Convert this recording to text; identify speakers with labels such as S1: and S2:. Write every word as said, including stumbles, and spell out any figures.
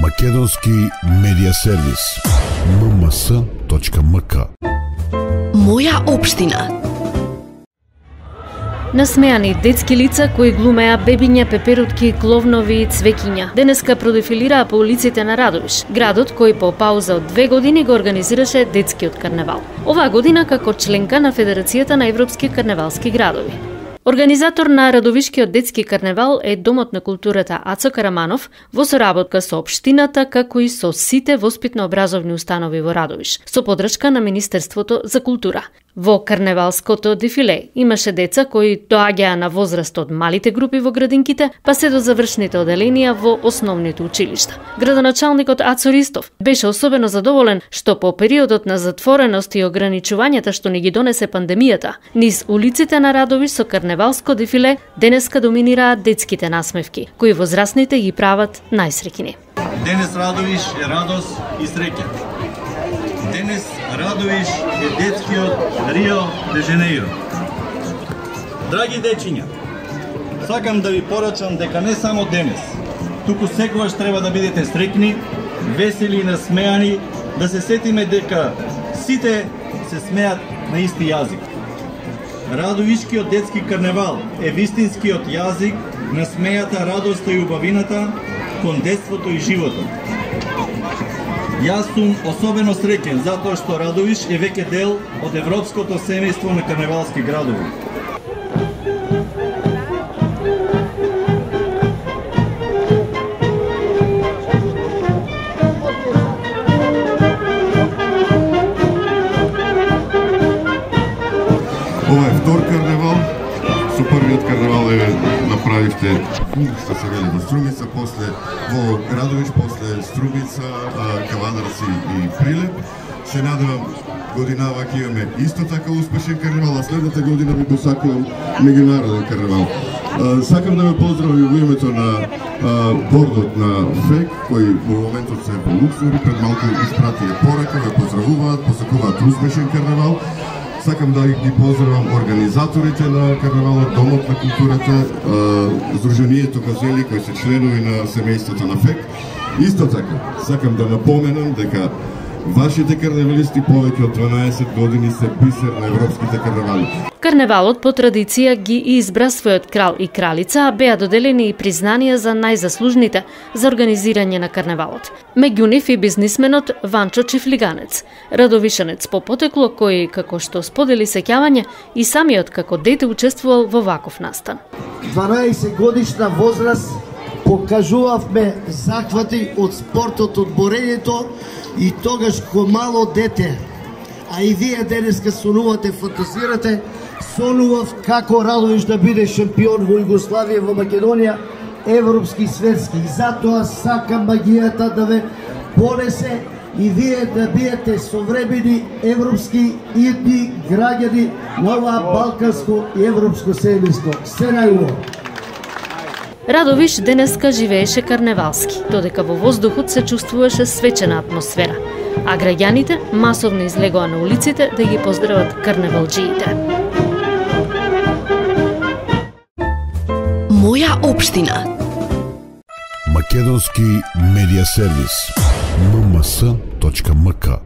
S1: Македонски медија сервис ем ем ес точка ем ка.
S2: Моја општина.
S3: Насмеани детски лица кои глумеа бебиња, пеперутки, кловнови и цвеќиња денеска продефилираа по улиците на Радовиш, градот кој по пауза од две години го организираше детскиот карневал. Оваа година како членка на Федерацијата на европски карневалски градови. Организатор на Радовишкиот детски карневал е Домот на културата Ацо Караманов во соработка со општината како и со сите воспитно-образовни установи во Радовиш, со поддршка на Министерството за култура. Во карневалското дефиле имаше деца кои доаѓаа на возраст од малите групи во градинките, па се до завршните оделенија во основните училишта. Градоначалникот Ацо Ристов беше особено задоволен што по периодот на затвореност и ограничувањата што ни ги донесе пандемијата, низ улиците на Радовиш со карневалско дефиле денеска доминираат детските насмевки, кои возрастните ги прават најсреќни.
S4: Денес Радовиш е радост и среќа. Денес Радовиш е детскиот Рио де Женеиро. Драги дечиња, сакам да ви порачам дека не само денес, туку секогаш треба да бидете среќни, весели и насмеани, да се сетиме дека сите се смеат на исти јазик. Радовишкиот детски карневал е вистинскиот јазик на смејата, радоста и убавината кон детството и животот. Јас сум особено среќен затоа што Радовиш е веќе дел од европското семејство на карневалски градови.
S5: Ова е втор карневал. Со првиот карневал е направивте што се вели во Струмица, после во Радовиш, после Струмица, Кавадарци и Прилеп. Се надевам годинава ќе имаме исто така успешен карневал, а следната година би посакувам меѓународен карневал. Сакам да ме поздравам во името на бордот на ФЕК, кој во моментот се во Луксембург, пред малку испратија порака, ве поздравуваат, посакуваат успешен карневал. Сакам да ги поздравам организаторите на карневалот, Домот на културата, Сдруженијето Газели, кои се членови на семејството на ФЕК. Исто така, сакам да напоменам дека вашите карневалисти повеќе од дванаесет години се бисер на европските карневали.
S3: Карневалот по традиција ги избра својот крал и кралица, а беа доделени и признанија за најзаслужните за организирање на карневалот. Меѓу нив и бизнисменот Ванчо Чифлиганец, радовишанец по потекло кој, како што сподели сеќавање, и самиот како дете учествувал во ваков настан.
S6: дванаесет годишна возраст покажувавме захвати од спортот, од борењето, и тогаш ко мало дете, а и вие денеска сонувате, фантазирате, сонував како Радовиш да биде шампион во Југославија, во Македонија, европски и светски. И затоа сакам магијата да ве понесе и вие да бидете современи европски идни граѓани на оваа балканско и европско семејство. Се најубаво.
S3: Радовиш денеска живееше карневалски, додека во воздухот се чувствуваше свечена атмосфера, а граѓаните масовно излегоа на улиците да ги поздрават карневалџиите.
S2: Моја општина.
S1: Македонски медија сервис ем ем ес точка ем ка.